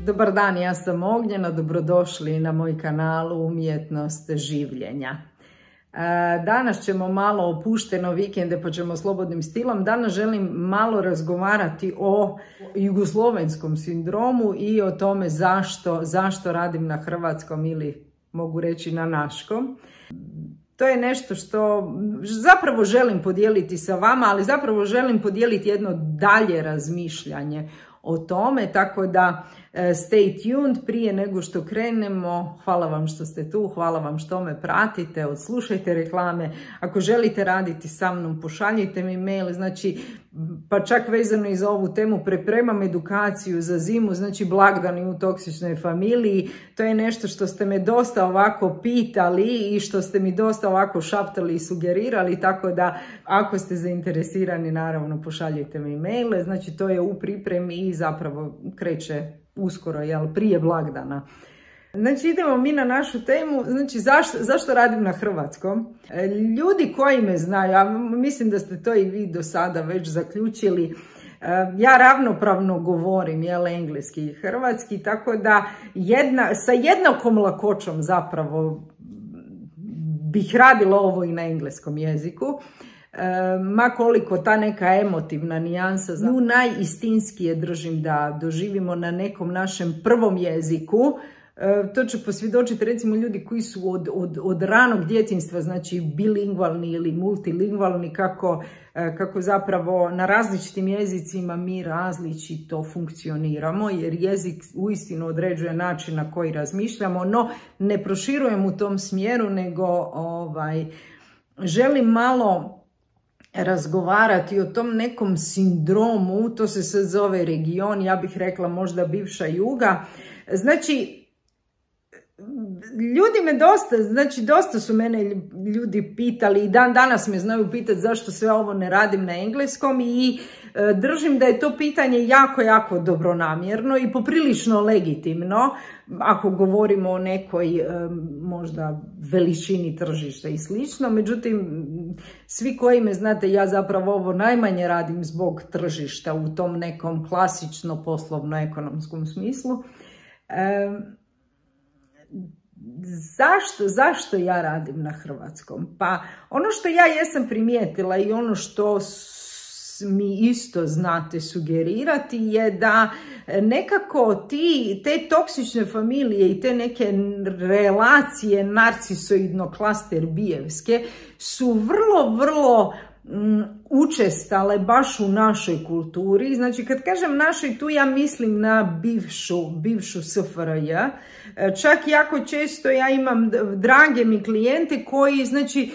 Dobar dan, ja sam Ognjena, dobrodošli na moj kanal Umjetnost življenja. Danas ćemo malo opušteno vikende, pa ćemo slobodnim stilom. Danas želim malo razgovarati o jugoslovenskom sindromu i o tome zašto radim na hrvatskom ili mogu reći na naškom. To je nešto što zapravo želim podijeliti sa vama, ali zapravo želim podijeliti jedno dalje razmišljanje o tome, tako da stay tuned. Prije nego što krenemo, hvala vam što ste tu, hvala vam što me pratite, odslušajte reklame. Ako želite raditi sa mnom, pošaljite mi mail, znači, pa čak vezano i za ovu temu, pripremam edukaciju za zimu, znači blagdani u toksičnoj familiji. To je nešto što ste me dosta ovako pitali i što ste mi dosta ovako šaptali i sugerirali, tako da ako ste zainteresirani, naravno pošaljite mi maile. Znači to je u pripremi i zapravo kreće uskoro, prije blagdana. Znači idemo mi na našu temu. Znači zašto radim na hrvatskom? Ljudi koji me znaju, a mislim da ste to i vi do sada već zaključili, ja ravnopravno govorim engleski i hrvatski, tako da sa jednakom lakoćom zapravo bih radila ovo i na engleskom jeziku. Ma koliko ta neka emotivna nijansa, nju najistinskije držim da doživimo na nekom našem prvom jeziku. To će posvjedočiti recimo ljudi koji su od ranog djetinjstva, znači bilingvalni ili multilingvalni, kako zapravo na različitim jezicima mi različito funkcioniramo, jer jezik uistinu određuje način na koji razmišljamo, no ne proširujem u tom smjeru, nego želim malo razgovarati o tom nekom sindromu. To se sad zove region, ja bih rekla možda bivša Juga. Znači, ljudi me dosta su mene ljudi pitali i dan danas me znaju pitati zašto sve ovo ne radim na engleskom i držim da je to pitanje jako dobronamjerno i poprilično legitimno ako govorimo o nekoj možda veličini tržišta i slično. Međutim, svi koji me znate, ja zapravo ovo najmanje radim zbog tržišta u tom nekom klasično poslovno-ekonomskom smislu. Zašto ja radim na hrvatskom? Pa ono što ja jesam primijetila i ono što mi isto znate sugerirati je da nekako te toksične familije i te neke relacije narcisoidno-klaster-bijevske su vrlo učestale baš u našoj kulturi. Znači kad kažem našoj, tu ja mislim na bivšu SFRJ. Čak jako često ja imam drage mi klijente koji znači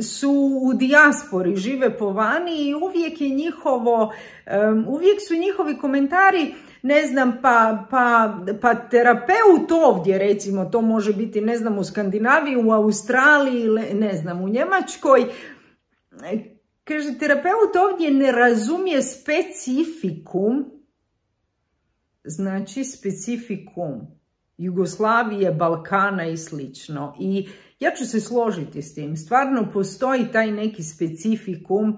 su u dijaspori, žive po vani i uvijek su njihovi komentari, ne znam, pa terapeut ovdje, recimo, to može biti, ne znam, u Skandinaviji, u Australiji, ne znam, u Njemačkoj. Kaže, terapeut ovdje ne razumije specifikum, znači specifikum Jugoslavije, Balkana i slično. I ja ću se složiti s tim. Stvarno postoji taj neki specifikum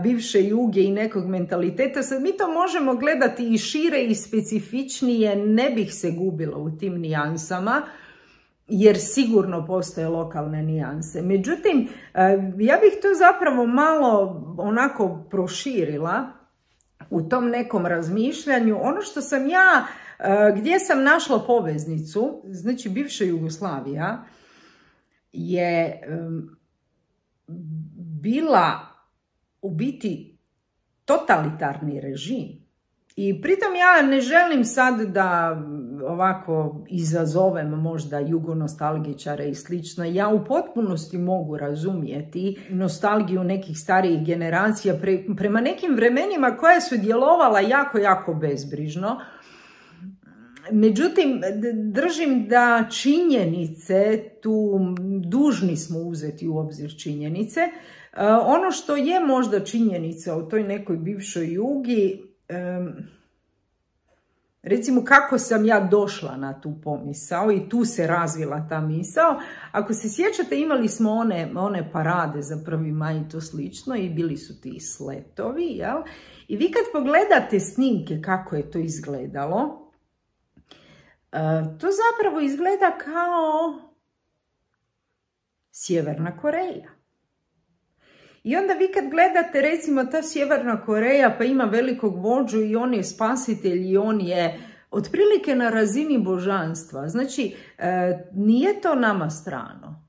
bivše Juge i nekog mentaliteta. Sad mi to možemo gledati i šire i specifičnije, ne bih se gubila u tim nijansama, jer sigurno postoje lokalne nijanse. Međutim, ja bih to zapravo malo onako proširila u tom nekom razmišljanju. Ono što sam ja, gdje sam našla poveznicu, znači bivša Jugoslavija je bila u biti totalitarni režim. I pritom ja ne želim sad da ovako izazovem možda jugonostalgičare i slično. Ja u potpunosti mogu razumjeti nostalgiju nekih starijih generacija prema nekim vremenima koja su djelovala jako bezbrižno. Međutim, držim da činjenice, tu dužni smo uzeti u obzir činjenice. Ono što je možda činjenica o toj nekoj bivšoj Jugi, recimo kako sam ja došla na tu pomisao i tu se razvila ta misao. Ako se sjećate, imali smo one parade za 1. maj i to slično i bili su ti sletovi, jel? I vi kad pogledate snimke kako je to izgledalo, To zapravo izgleda kao Sjeverna Koreja. I onda vi kad gledate, recimo, ta Sjeverna Koreja pa ima velikog vođu i on je spasitelj i on je otprilike na razini božanstva. Znači, nije to nama strano.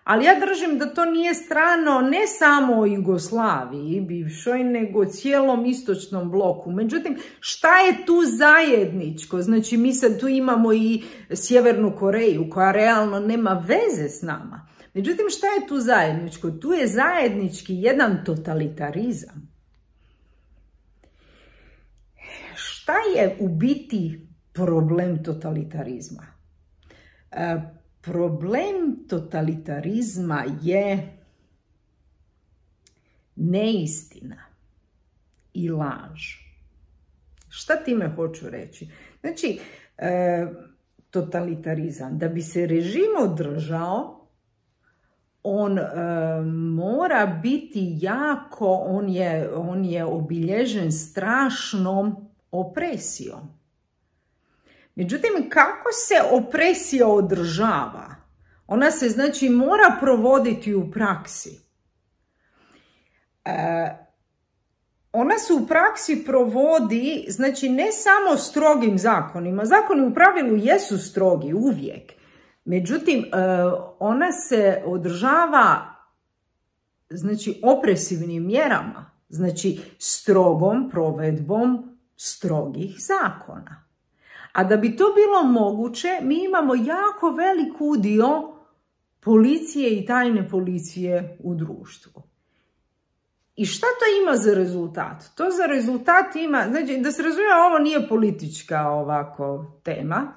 Ali ja držim da to nije strano ne samo Jugoslaviji bivšoj, nego cijelom istočnom bloku. Međutim, šta je tu zajedničko? Znači, mi sad tu imamo i Sjevernu Koreju koja realno nema veze s nama. Međutim, šta je tu zajedničko? Tu je zajednički jedan totalitarizam. Šta je u biti problem totalitarizma? Problem totalitarizma je neistina i laž. Šta time hoću reći? Znači, totalitarizam, da bi se režim održao, on mora biti jako, on je obilježen strašnom opresijom. Međutim, kako se opresija održava? Ona se, znači, mora provoditi u praksi. Ona se u praksi provodi, znači, ne samo strogim zakonima. Zakoni u pravilu jesu strogi uvijek. Međutim, ona se održava, znači, opresivnim mjerama. Znači, strogom provedbom strogih zakona. A da bi to bilo moguće, mi imamo jako velik udio policije i tajne policije u društvu. I šta to ima za rezultat? To za rezultat ima, znači, da se razumije, ovo nije politička ovako tema.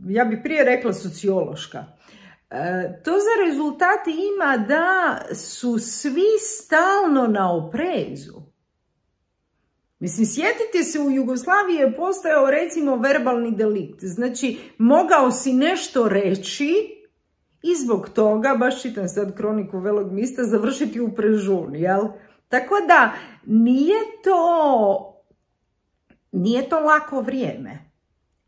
Ja bih prije rekla sociološka. To za rezultat ima da su svi stalno na oprezu. Mislim, sjetite se, u Jugoslaviji je postojao, recimo, verbalni delikt. Znači, mogao si nešto reći i zbog toga, baš čitam sad kroniku Velog mista, završiti u prežuni, jel? Tako da, nije to lako vrijeme.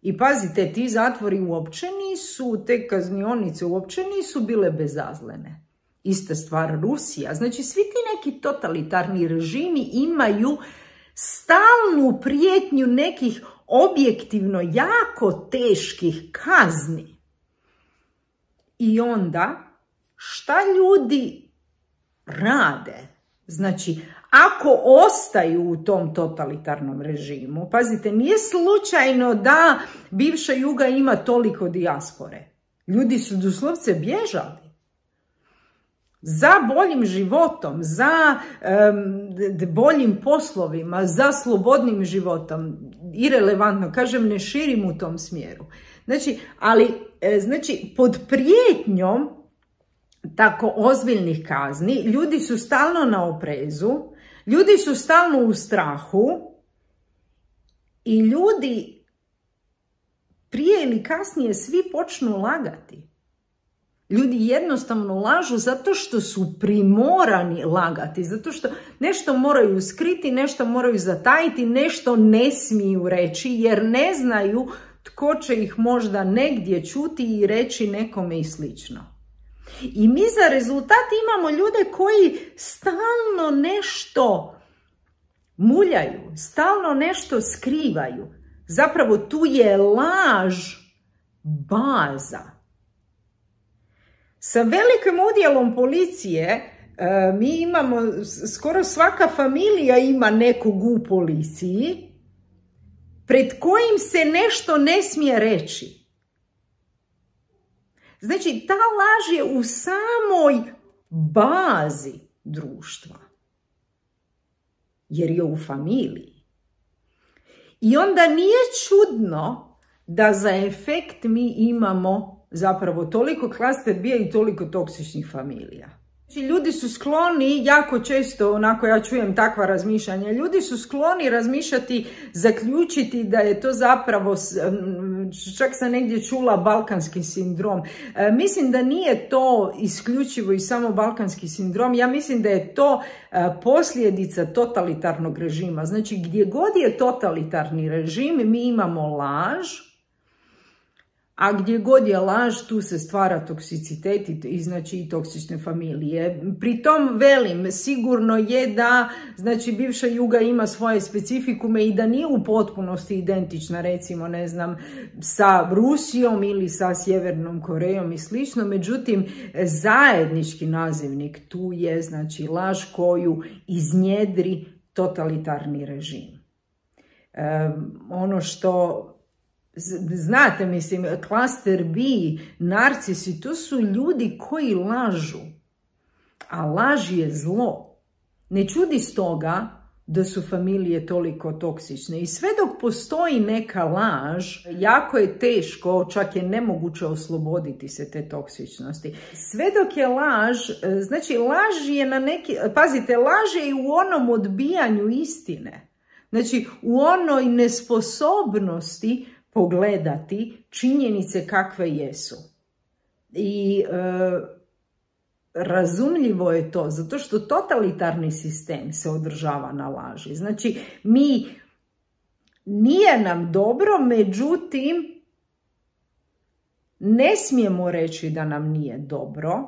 I pazite, ti zatvori uopće nisu, te kaznionice uopće nisu bile bezazlene. Ista stvar Rusija. Znači, svi ti neki totalitarni režimi imaju stalnu prijetnju nekih objektivno jako teških kazni. I onda, šta ljudi rade? Znači, ako ostaju u tom totalitarnom režimu, pazite, nije slučajno da bivša Juga ima toliko dijaspore. Ljudi su doslovce bježali za boljim životom, za boljim poslovima, za slobodnim životom. Irelevantno, kažem, ne širim u tom smjeru. Znači, znači, pod prijetnjom tako ozbiljnih kazni, ljudi su stalno na oprezu, ljudi su stalno u strahu i ljudi prije ili kasnije svi počnu lagati. Ljudi jednostavno lažu zato što su primorani lagati, zato što nešto moraju skriti, nešto moraju zatajiti, nešto ne smiju reći jer ne znaju tko će ih možda negdje čuti i reći nekome i slično. I mi za rezultat imamo ljude koji stalno nešto muljaju, stalno nešto skrivaju. Zapravo tu je laž baza. Sa velikim udjelom policije mi imamo, skoro svaka familija ima nekog u policiji pred kojim se nešto ne smije reći. Znači, ta laž je u samoj bazi društva, jer je u familiji. I onda nije čudno da za efekt mi imamo zapravo toliko klaster bija i toliko toksičnih familija. Ljudi su skloni, jako često, onako ja čujem takva razmišljanja, ljudi su skloni razmišljati, zaključiti da je to zapravo, čak sam negdje čula, balkanski sindrom. Mislim da nije to isključivo i samo balkanski sindrom, ja mislim da je to posljedica totalitarnog režima. Znači gdje god je totalitarni režim mi imamo laž, a gdje god je laž, tu se stvara toksicitet i znači i toksične familije. Pri tom velim, sigurno je da znači bivša Juga ima svoje specifikume i da nije u potpunosti identična, recimo, ne znam, sa Rusijom ili sa Sjevernom Korejom i slično. Međutim, zajednički nazivnik tu je znači laž koju iznjedri totalitarni režim. Ono što znate, mislim, klaster B, narcisi, to su ljudi koji lažu, a laž je zlo. Ne čudi stoga da su familije toliko toksične. I sve dok postoji neka laž, jako je teško, čak je nemoguće osloboditi se te toksičnosti. Sve dok je laž, znači laž je na neki, pazite, laž je i u onom odbijanju istine. Znači u onoj nesposobnosti pogledati činjenice kakve jesu. I razumljivo je to, zato što totalitarni sistem se održava na laži. Znači, nije nam dobro, međutim, ne smijemo reći da nam nije dobro,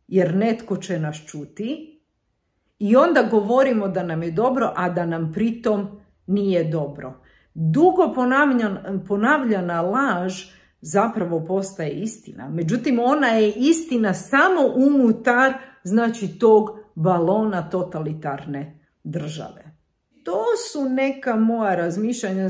jer netko će nas čuti, i onda govorimo da nam je dobro, a da nam pritom nije dobro. Dugo ponavljana laž zapravo postaje istina. Međutim, ona je istina samo unutar, znači, tog balona totalitarne države. To su neka moja razmišljanja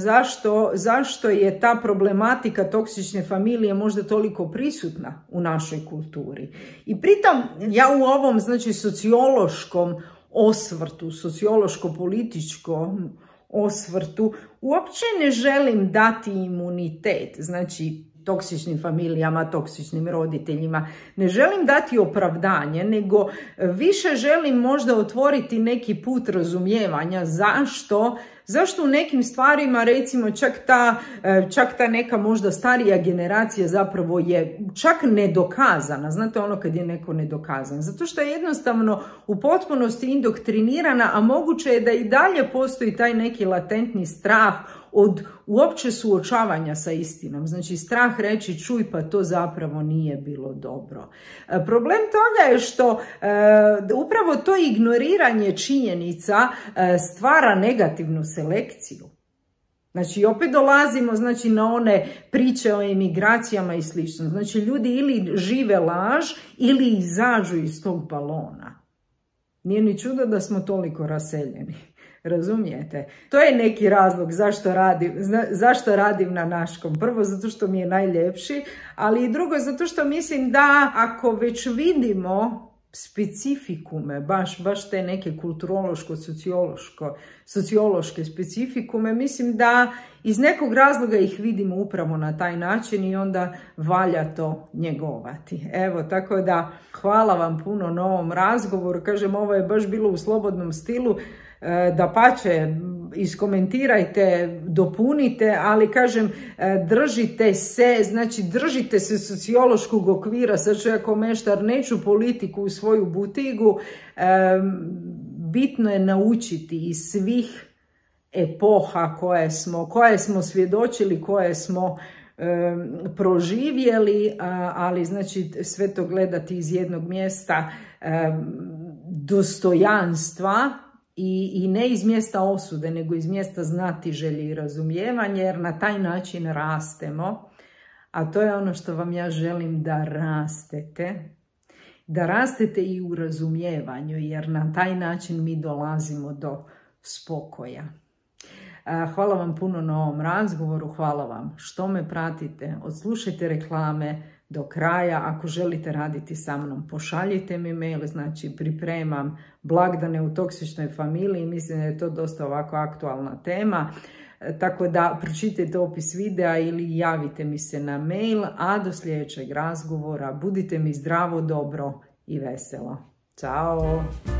zašto je ta problematika toksične familije možda toliko prisutna u našoj kulturi. I pritom ja u ovom, znači, sociološkom osvrtu, sociološko-političkom osvrtu uopće ne želim dati imunitet, znači toksičnim familijama, toksičnim roditeljima. Ne želim dati opravdanje, nego više želim možda otvoriti neki put razumijevanja zašto u nekim stvarima, recimo, čak ta neka možda starija generacija zapravo je čak nedokazana. Znate ono kad je neko nedokazan? Zato što je jednostavno u potpunosti indoktrinirana, a moguće je da i dalje postoji taj neki latentni strah od uopće suočavanja sa istinom. Znači strah reći, čuj, pa to zapravo nije bilo dobro. Problem toga je što upravo to ignoriranje činjenica stvara negativnu selekciju. Znači opet dolazimo, znači, na one priče o emigracijama i slično. Znači ljudi ili žive laž ili izađu iz tog balona. Nije ni čudo da smo toliko raseljeni. Razumijete? To je neki razlog zašto radim na Naškom. Prvo, zato što mi je najljepši, ali i drugo, zato što mislim da ako već vidimo specifikume, baš te neke kulturološko-sociološke specifikume, mislim da iz nekog razloga ih vidimo upravo na taj način i onda valja to njegovati. Evo, tako da hvala vam puno na ovom razgovoru. Kažem, ovo je baš bilo u slobodnom stilu. Dapače, iskomentirajte, dopunite, ali kažem, držite se sociološkog okvira. Sad ću ja ko meštar, neću politiku u svoju butigu. Bitno je naučiti iz svih epoha koje smo svjedočili, koje smo proživjeli, ali znači sve to gledati iz jednog mjesta dostojanstva, i ne iz mjesta osude, nego iz mjesta znatiželje i razumijevanja, jer na taj način rastemo. A to je ono što vam ja želim, da rastete. Da rastete i u razumijevanju, jer na taj način mi dolazimo do spokoja. Hvala vam puno na ovom razgovoru, hvala vam što me pratite, odslušajte reklame do kraja. Ako želite raditi sa mnom, pošaljite mi mail, znači pripremam blagdane u toksičnoj familiji, mislim da je to dosta ovako aktualna tema, tako da pročitajte opis videa ili javite mi se na mail, a do sljedećeg razgovora budite mi zdravo, dobro i veselo. Ćao!